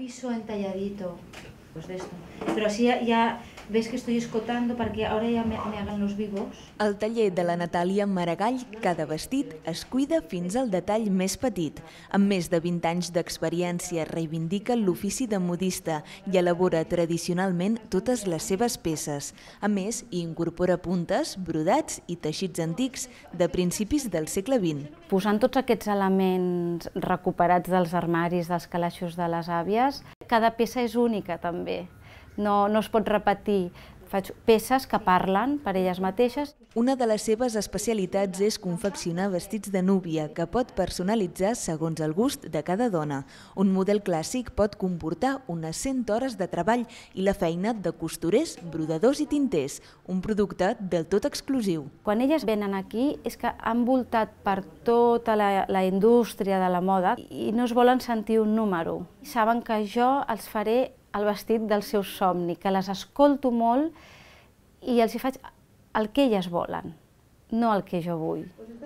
viso entalladito, pues de esto. Pero así ya ves que estoy escotando para que ahora ya me hagan los vivos. Al taller de la Natàlia Maragall, cada vestit es cuida fins al detall més petit. Amb més de 20 anys d'experiència, reivindica l'ofici de modista i elabora tradicionalment totes les seves peces. A més, hi incorpora puntes, brodats i teixits antics de principis del segle XX. Posant tots aquests elements recuperats dels armaris, dels calaixos de les àvies, cada peça és única també. No es pot repetir. Faig peces que parlen per elles mateixes. Una de les seves especialitats és confeccionar vestits de núvia que pot personalitzar segons el gust de cada dona. Un model clàssic pot comportar unes 100 hores de treball i la feina de costurers, brodadors i tinters, un producte del tot exclusiu. Quan elles venen aquí és que han voltat per tota la indústria de la moda i no es volen sentir un número. Saben que jo els faré el vestit del seu somni, que les escolto molt i els hi faig el que elles volen, no el que jo vull.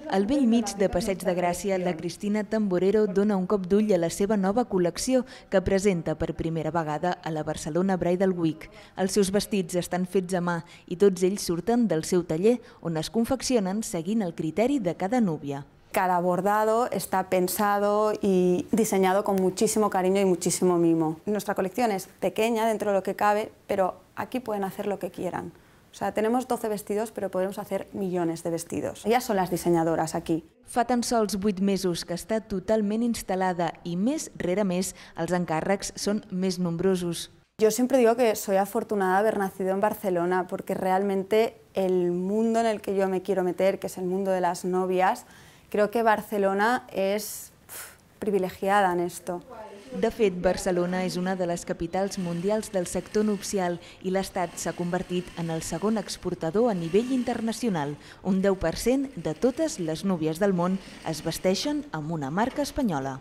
Al bell mig de Passeig de Gràcia, la Cristina Tamborero dona un cop d'ull a la seva nova col·lecció que presenta per primera vegada a la Barcelona Bridal Week. Els seus vestits estan fets a mà i tots ells surten del seu taller, on es confeccionen seguint el criteri de cada núvia. Cada bordado está pensado y diseñado con muchísimo cariño y muchísimo mimo. Nuestra colección es pequeña dentro de lo que cabe, pero aquí pueden hacer lo que quieran. O sea, tenemos 12 vestidos, pero podemos hacer millones de vestidos. Ellas son las diseñadoras aquí. Fa tan sols 8 mesos que està totalment instal·lada i mes rere mes els encàrrecs són més nombrosos. Yo siempre digo que soy afortunada de haber nacido en Barcelona porque realmente el mundo en el que yo me quiero meter, que es el mundo de las novias, creo que Barcelona es privilegiada en esto. De fet, Barcelona és una de les capitals mundials del sector nupcial i l'Estat s'ha convertit en el segon exportador a nivell internacional. Un 10% de totes les núvies del món es vesteixen amb una marca espanyola.